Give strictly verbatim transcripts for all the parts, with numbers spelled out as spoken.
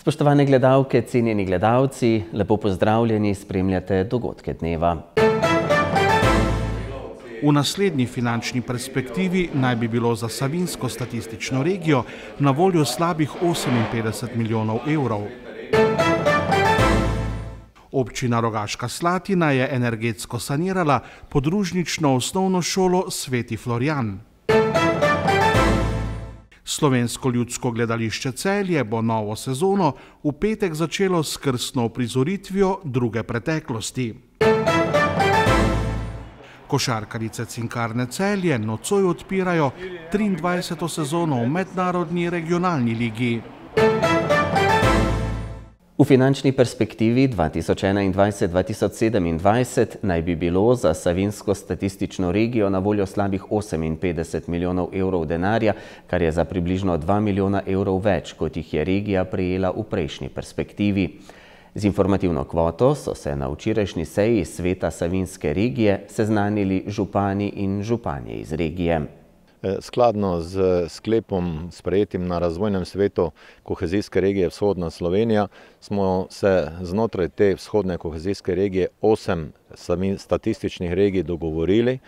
Spoštovane gledalke, cenjeni gledalci, lepo pozdravljeni, spremljate dogodke dneva. V naslednji finančni perspektivi naj bi bilo za Savinjsko statistično regijo na voljo slabih oseminpetdeset milijonov evrov. Občina Rogaška Slatina je energetsko sanirala podružnično osnovno šolo Sveti Florjan. Slovensko ljudsko gledališče Celje bo novo sezono v petek začelo s krstno uprizoritvijo Druge preteklosti. Košarkarice Cinkarne Celje nocoj odpirajo triindvajseto sezono v mednarodni regionalni ligi. V finančni perspektivi dva tisoč enaindvajset do dva tisoč sedemindvajset naj bi bilo za Savinjsko statistično regijo na voljo slabih oseminpetdeset milijonov evrov denarja, kar je za približno dva milijona evrov več, kot jih je regija prejela v prejšnji perspektivi. Z informativno kvoto so se na včerajšnji seji Sveta Savinjske regije seznanili župani in županje iz regije. Skladno z sklepom sprejetim na razvojnem svetu kohezijske regije Vzhodna Slovenija smo se znotraj te vzhodne kohezijske regije osem statističnih regij dogovorili,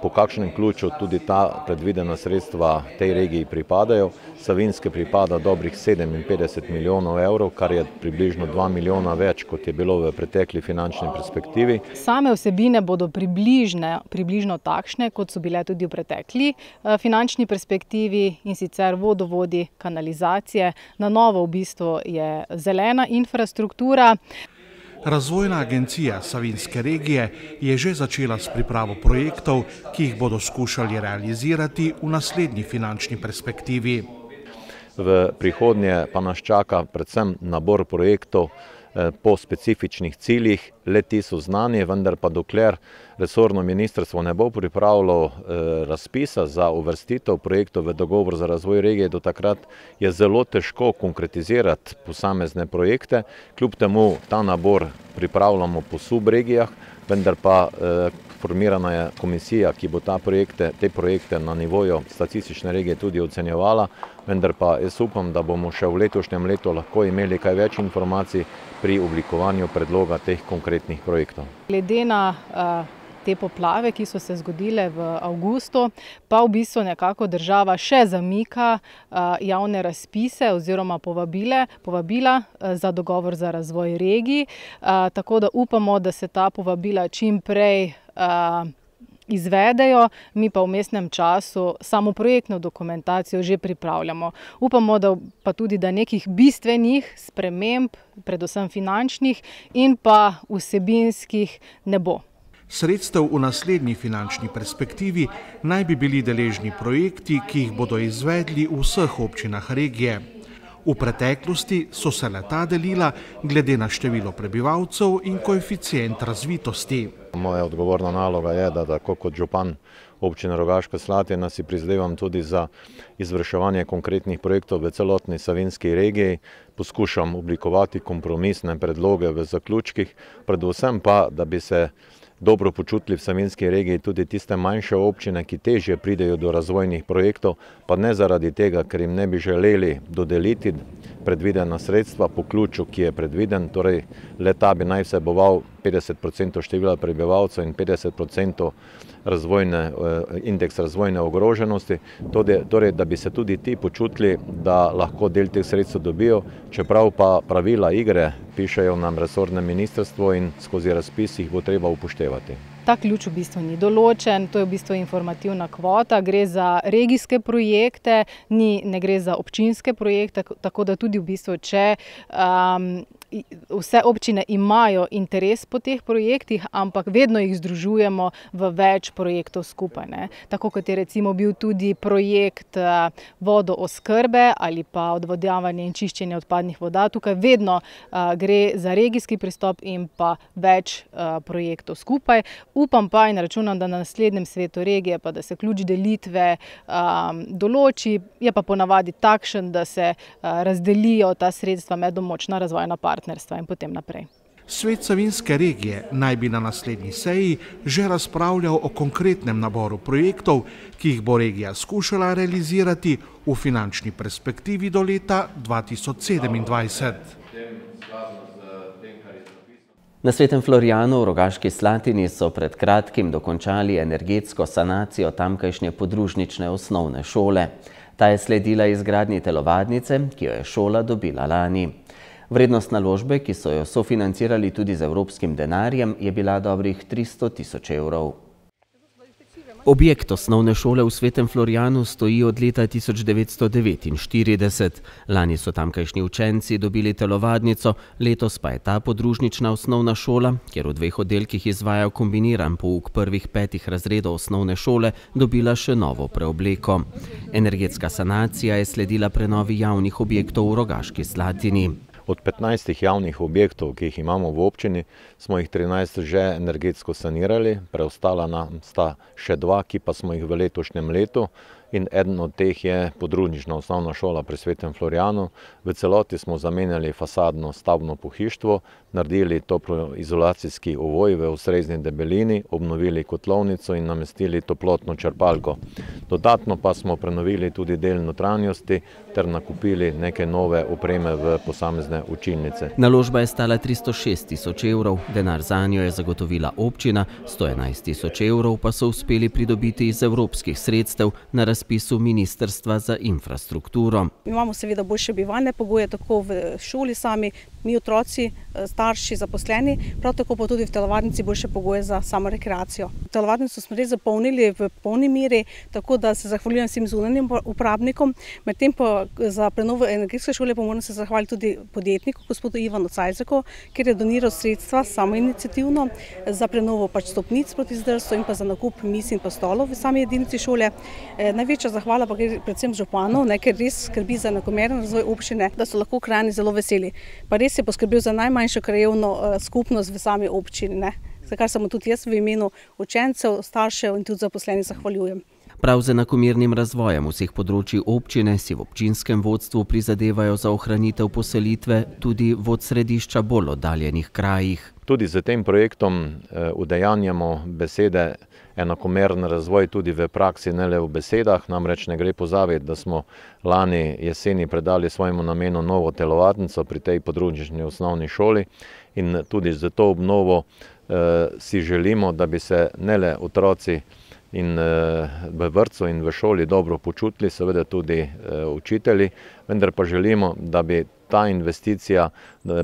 po kakšnem ključu tudi ta predvidena sredstva tej regiji pripadajo. Savinjske pripada dobrih sedeminpetdeset milijonov evrov, kar je približno dva milijona več, kot je bilo v pretekli finančni perspektivi. Same vsebine bodo približne, približno takšne, kot so bile tudi v pretekli finančni perspektivi, in sicer vodovodi, kanalizacije. Na novo v bistvu je zelena infrastruktura. Razvojna agencija Savinjske regije je že začela s pripravo projektov, ki jih bodo skušali realizirati v naslednji finančni perspektivi. V prihodnje pa nas čaka predvsem nabor projektov po specifičnih ciljih. Le-ti so znani, vendar pa dokler resorno ministrstvo ne bo pripravilo razpisa za uvrstitev projektov v dogovor za razvoj regije, do takrat je zelo težko konkretizirati posamezne projekte. Kljub temu ta nabor pripravljamo po subregijah, vendar pa formirana je komisija, ki bo ta projekte, te projekte na nivoju statistične regije tudi ocenjevala, vendar pa jaz upam, da bomo še v letošnjem letu lahko imeli kaj več informacij pri oblikovanju predloga teh konkretnih projektov. Glede na te poplave, ki so se zgodile v avgustu, pa v bistvu nekako država še zamika javne razpise oziroma povabile, povabila za dogovor za razvoj regij, tako da upamo, da se ta povabila čim prej izvedejo, mi pa v vmesnem času samo projektno dokumentacijo že pripravljamo. Upamo, da pa tudi da nekih bistvenih sprememb, predvsem finančnih in pa vsebinskih, ne bo. Sredstev v naslednji finančni perspektivi naj bi bili deležni projekti, ki jih bodo izvedli v vseh občinah regije. V preteklosti so se le-ta delila glede na število prebivalcev in koeficient razvitosti. Moja odgovorna naloga je, da tako kot župan občine Rogaška Slatina si prizadevam tudi za izvrševanje konkretnih projektov v celotni Savinjski regiji. Poskušam oblikovati kompromisne predloge v zaključkih, predvsem pa, da bi se dobro počutili v Savinjski regiji tudi tiste manjše občine, ki težje pridejo do razvojnih projektov, pa ne zaradi tega, ker jim ne bi želeli dodeliti predvidena sredstva po ključu, ki je predviden, torej le-ta bi naj vseboval petdeset procentov števila prebivalcev in petdeset procentov razvojne, indeks razvojne ogroženosti, torej da bi se tudi ti počutili, da lahko del teh sredstev dobijo, čeprav pa pravila igre pišejo nam resorne ministrstvo in skozi razpis jih bo treba upoštevati. Ta ključ v bistvu ni določen, to je v bistvu informativna kvota, gre za regijske projekte, ni, ne gre za občinske projekte, tako da tudi v bistvu, če um, vse občine imajo interes po teh projektih, ampak vedno jih združujemo v več projektov skupaj, ne. Tako kot je recimo bil tudi projekt vodooskrbe ali pa odvodnjavanje in čiščenje odpadnih voda. Tukaj vedno uh, gre za regijski pristop in pa več uh, projektov skupaj. Upam pa in računam, da na naslednjem svetu regije pa da se ključ delitve um, določi, je pa ponavadi takšen, da se uh, razdelijo ta sredstva med območna razvojna partnerstva in potem naprej. Svet Savinjske regije naj bi na naslednji seji že razpravljal o konkretnem naboru projektov, ki jih bo regija skušala realizirati v finančni perspektivi do leta dva tisoč sedemindvajset. Na Svetem Florijanu v Rogaški Slatini so pred kratkim dokončali energetsko sanacijo tamkajšnje podružnične osnovne šole. Ta je sledila izgradnji telovadnice, ki jo je šola dobila lani. Vrednost naložbe, ki so jo sofinancirali tudi z evropskim denarjem, je bila dobrih tristo tisoč evrov. Objekt osnovne šole v Svetem Florijanu stoji od leta tisoč devetsto devetinštirideset. Lani so tamkajšnji učenci dobili telovadnico, letos pa je ta podružnična osnovna šola, kjer v dveh oddelkih izvajajo kombiniran pouk prvih petih razredov osnovne šole, dobila še novo preobleko. Energetska sanacija je sledila prenovi javnih objektov v Rogaški Slatini. Od petnajstih javnih objektov, ki jih imamo v občini, smo jih trinajst že energetsko sanirali, preostala nam sta še dva, ki pa smo jih v letošnjem letu. In eden od teh je podružnična osnovna šola pri Svetem Florijanu. V celoti smo zamenjali fasadno stavbno pohištvo, naredili toploizolacijski ovoj v ustrezni debelini, obnovili kotlovnico in namestili toplotno črpalko. Dodatno pa smo prenovili tudi del notranjosti ter nakupili neke nove opreme v posamezne učilnice. Naložba je stala tristo šest tisoč evrov, denar zanjo je zagotovila občina, sto enajst tisoč evrov pa so uspeli pridobiti iz evropskih sredstev na razpisu Ministrstva za infrastrukturo. Imamo seveda boljše bivalne pogoje, tako v šoli sami, mi otroci, starši, zaposleni, prav tako pa tudi v telovadnici boljše pogoje za samo rekreacijo. Telovadnico smo res zapolnili v polni meri, tako da se zahvaljujem vsem zunanjim uporabnikom. Medtem pa za prenovo energetske šole pa moram se zahvaliti tudi podjetniku, gospodu Ivanu Cajzeku, ker je doniral sredstva samoiniciativno za prenovo pač stopnic proti zdrsu in pa za nakup miz in pa stolov v sami jedinici šole. Največja zahvala pa gre predvsem županu, ker res skrbi za enakomeren razvoj občine, da so lahko krajani zelo veseli. Pa res je poskrbel za najmanjšo krajevno skupnost v sami občini, za kar sem tudi jaz v imenu učencev, staršev in tudi zaposlenih zahvaljujem. Prav z enakomernim razvojem vseh področij občine si v občinskem vodstvu prizadevajo za ohranitev poselitve tudi v od središča bolj oddaljenih krajih. Tudi z tem projektom udejanjamo besede enakomeren razvoj tudi v praksi, ne le v besedah. Namreč ne gre pozabiti, da smo lani jeseni predali svojemu namenu novo telovadnico pri tej podružnični osnovni šoli in tudi za to obnovo si želimo, da bi se ne le otroci in v vrtcu in v šoli dobro počutili, seveda tudi učitelji, vendar pa želimo, da bi ta investicija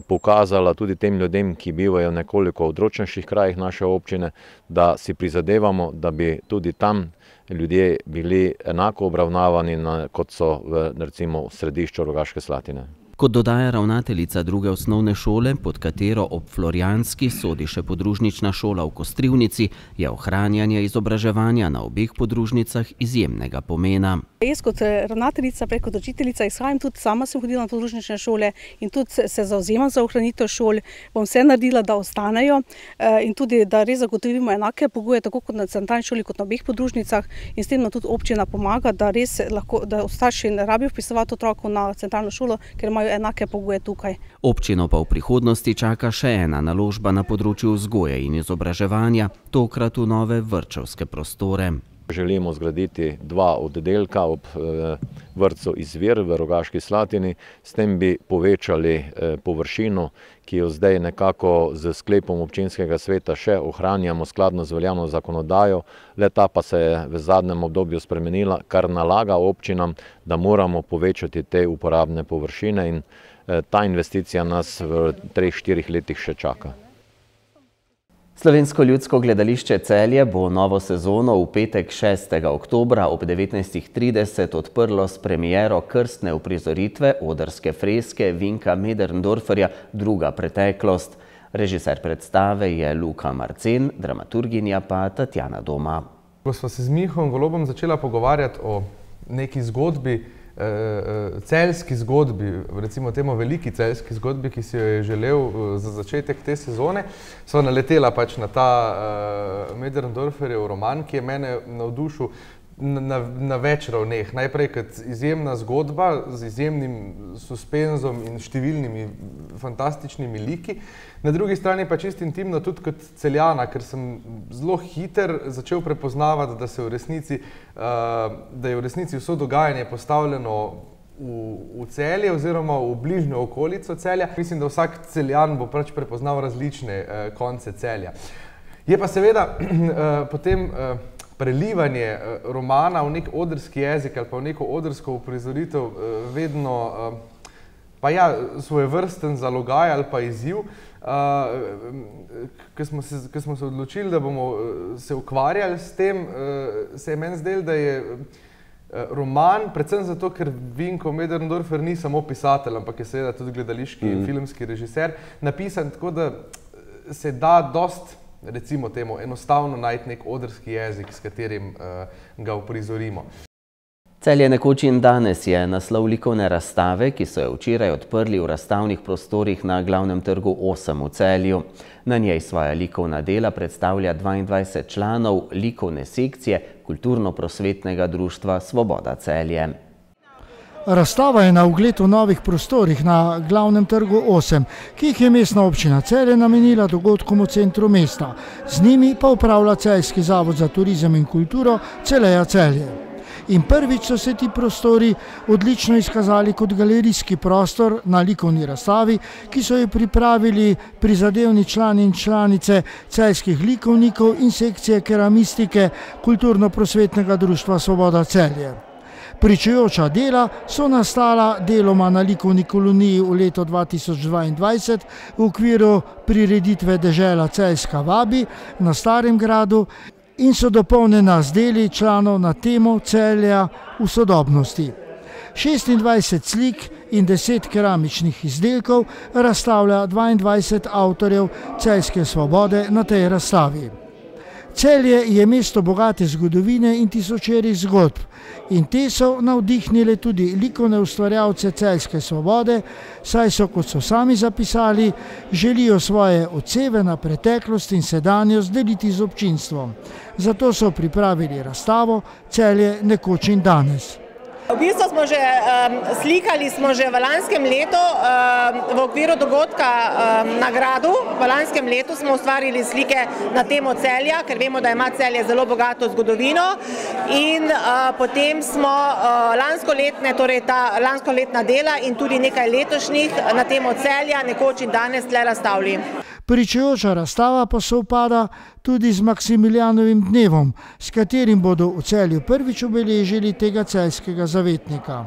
pokazala tudi tem ljudem, ki bivajo nekoliko v odročnejših krajih naše občine, da si prizadevamo, da bi tudi tam ljudje bili enako obravnavani, kot so v recimo središču Rogaške Slatine. Kot dodaja ravnateljica druge osnovne šole, pod katero ob Florijanski sodi še podružnična šola v Kostrivnici, je ohranjanje izobraževanja na obeh podružnicah izjemnega pomena. Jaz kot ravnateljica, prej kot učiteljica izhajam, tudi sama sem hodila na podružnične šole in tudi se zauzemam za ohranitev šol. Bom vse naredila, da ostanejo in tudi, da res zagotovimo enake pogoje, tako kot na centralni šoli, kot na obeh podružnicah in s tem tudi občina pomaga, da res lahko, da starši ne rabijo vpisovati otrokov na centralno šolo, ker imajo enake pogoje tukaj. Občino pa v prihodnosti čaka še ena naložba na področju vzgoje in izobraževanja, tokrat v nove vrtčevske prostore. Želimo zgraditi dva oddelka ob vrtcu Izvir v Rogaški Slatini, s tem bi povečali površino, ki jo zdaj nekako z sklepom občinskega sveta še ohranjamo skladno z veljavno zakonodajo, le ta pa se je v zadnjem obdobju spremenila, kar nalaga občinam, da moramo povečati te uporabne površine in ta investicija nas v treh, štirih letih še čaka. Slovensko ljudsko gledališče Celje bo novo sezono v petek šestega oktobra ob devetnajstih trideset odprlo s premiero krstne uprizoritve odrske freske Vinka Möderndorferja Druga preteklost. Režiser predstave je Luka Marcen, dramaturginja pa Tatjana Doma. Ko sva se z Mihom Golobom začela pogovarjati o neki zgodbi, celjski zgodbi, recimo temu veliki celjski zgodbi, ki si jo je želel za začetek te sezone, sva naletela pač na ta Möderndorferjev roman, ki je mene navdušil na, na več ravneh. Najprej kot izjemna zgodba z izjemnim suspenzom in številnimi fantastičnimi liki. Na drugi strani pa čisto intimno tudi kot Celjana, ker sem zelo hiter začel prepoznavati, da se v resnici, da je v resnici vso dogajanje postavljeno v Celje oziroma v bližnjo okolico Celja. Mislim, da vsak Celjan bo pač prepoznal različne konce Celja. Je pa seveda potem prelivanje romana v nek odrski jezik ali pa v neko odrsko uprizoritev vedno pa ja, svojevrsten zalogaj ali pa izziv. Ko smo se, ko smo se odločili, da bomo se ukvarjali s tem, se je meni zdelo, da je roman, predvsem zato, ker Vinko Möderndorfer ni samo pisatelj, ampak je seveda tudi gledališki in filmski režiser, napisan tako, da se da dost, recimo temu, enostavno najti nek odrski jezik, s katerim ga uprizorimo. Celje nekoč in danes je naslov likovne razstave, ki so jo včeraj odprli v razstavnih prostorih na Glavnem trgu osem v Celju. Na njej svoja likovna dela predstavlja dvaindvajset članov likovne sekcije Kulturno-prosvetnega društva Svoboda Celje. Razstava je na ogled v novih prostorih na Glavnem trgu osem, ki jih je mestna občina Celje namenila dogodkom v centru mesta. Z njimi pa upravlja Celjski zavod za turizem in kulturo Celeja Celje. In prvič so se ti prostori odlično izkazali kot galerijski prostor na likovni razstavi, ki so jo pripravili prizadevni člani in članice celjskih likovnikov in sekcije keramistike Kulturno-prosvetnega društva Svoboda Celje. Pričujoča dela so nastala deloma na likovni koloniji v letu dva tisoč dvaindvajset v okviru prireditve Dežela Celjska vabi na Starem gradu in so dopolnjena z deli članov na temo Celja v sodobnosti. šestindvajset slik in deset keramičnih izdelkov razstavlja dvaindvajset avtorjev celjske svobode na tej razstavi. Celje je mesto bogate zgodovine in tisočerih zgodb in te so navdihnile tudi likovne ustvarjalce celjske svobode, saj so, kot so sami zapisali, želijo svoje odseve na preteklost in sedanjost deliti z občinstvom. Zato so pripravili razstavo Celje nekoč in danes. V bistvu smo že um, slikali smo že v lanskem letu um, v okviru dogodka um, na gradu. V lanskem letu smo ustvarili slike na temo Celja, ker vemo, da ima Celje zelo bogato zgodovino. In uh, potem smo uh, lanskoletne, torej ta lanskoletna dela in tudi nekaj letošnjih na temo Celja nekoč in danes tle razstavili. Pričujoča razstava pa sovpada tudi z Maksimilijanovim dnevom, s katerim bodo v Celju prvič obeležili tega celjskega zavetnika.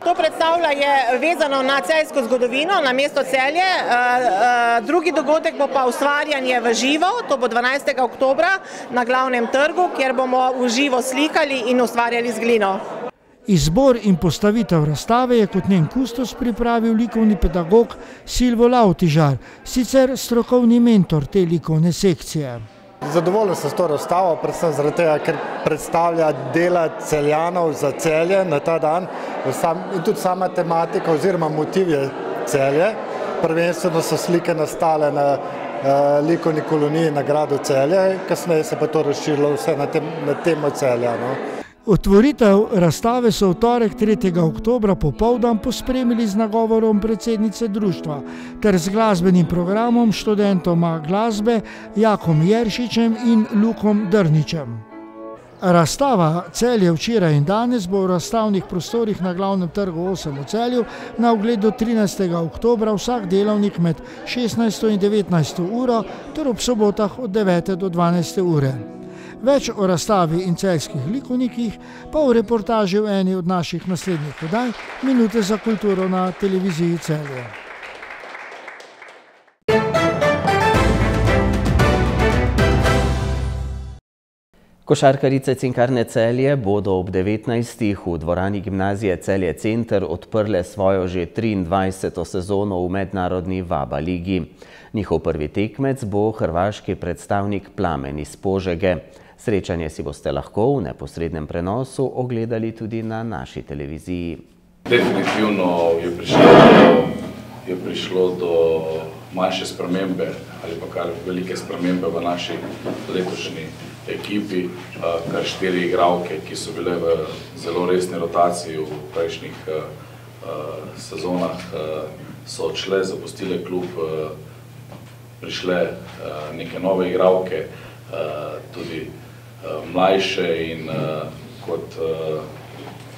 To predstavlja je vezano na celjsko zgodovino, na mesto Celje. Drugi dogodek bo pa ustvarjanje v živo, to bo dvanajstega oktobra na Glavnem trgu, kjer bomo v živo slikali in ustvarjali z glino. Izbor in postavitev razstave je kot njen kustos pripravil likovni pedagog Silvo Lavtižar, sicer strokovni mentor te likovne sekcije. Zadovoljen sem s to razstavo, predvsem zaradi tega, ker predstavlja dela Celjanov za Celje na ta dan in tudi sama tematika oziroma motiv je Celje. Prvenstveno so slike nastale na likovni koloniji na gradu Celje, kasneje se pa to razširilo vse na temo Celja. Otvoritev razstave so v torek tretjega oktobra popoldan pospremili z nagovorom predsednice društva ter z glasbenim programom študentoma glasbe Jakom Jeršičem in Lukom Drničem. Razstava Celje včeraj in danes bo v razstavnih prostorih na Glavnem trgu osem v Celju na ogled do trinajstega oktobra vsak delavnik med šestnajsto in devetnajsto uro ter ob sobotah od devete do dvanajste ure. Več o razstavi in celjskih likovnikih pa v reportaži v eni od naših naslednjih oddaj Minute za kulturo na televiziji Celje. Košarkarice Cinkarne Celje bodo ob devetnajstih v dvorani gimnazije Celje Center odprle svojo že triindvajseto sezono v mednarodni Vaba ligi. Njihov prvi tekmec bo hrvaški predstavnik Plamen iz Požege. Srečanje si boste lahko v neposrednem prenosu ogledali tudi na naši televiziji. Definitivno je prišlo do, je prišlo do manjše spremembe ali pa kar velike spremembe v naši letošnji ekipi. Kar štiri igralke, ki so bile v zelo resni rotaciji v prejšnjih sezonah, so odšle, zapustile klub, prišle neke nove igralke, tudi mlajše in kot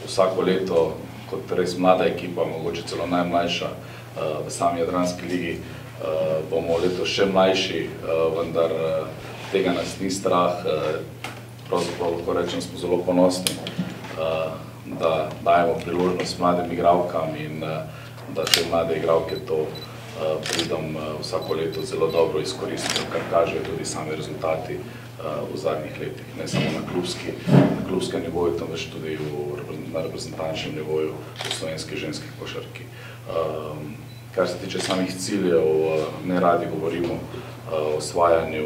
vsako leto, kot res mlada ekipa, mogoče celo najmlajša v sami Jadranski ligi. Bomo letos še mlajši, vendar tega nas ni strah. Pravzaprav lahko rečem, smo zelo ponosni, da dajemo priložnost mladim igralkam in da te mlade igralke to pridom vsako leto zelo dobro izkoristijo, kar kažejo tudi sami rezultati v zadnjih letih, ne samo na klubski, na klubskem nivoju, temveč tudi na reprezentančnem nivoju v slovenski ženski košarki. Kar se tiče samih ciljev, ne radi govorimo o osvajanju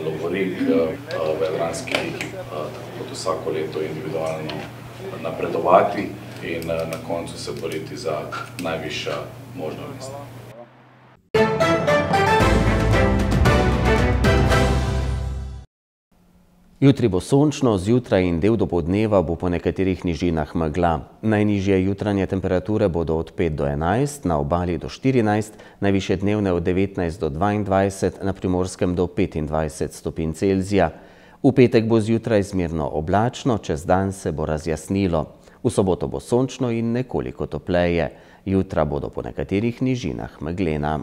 lovorik v Jadranski ligi, tako kot vsako leto individualno napredovati in na koncu se boriti za najvišja možna mesta. Jutri bo sončno, zjutraj in del dopoldneva bo po nekaterih nižinah megla. Najnižje jutranje temperature bodo od pet do enajst, na obali do štirinajst, najvišje dnevne od devetnajst do dvaindvajset, na Primorskem do petindvajset stopinj Celzija. V petek bo zjutraj zmerno oblačno, čez dan se bo razjasnilo. V soboto bo sončno in nekoliko topleje. Jutra bodo po nekaterih nižinah meglena.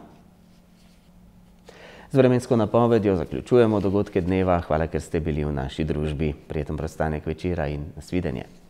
Z vremensko napovedjo zaključujemo dogodke dneva. Hvala, ker ste bili v naši družbi. Prijeten preostanek večera in nasvidenje.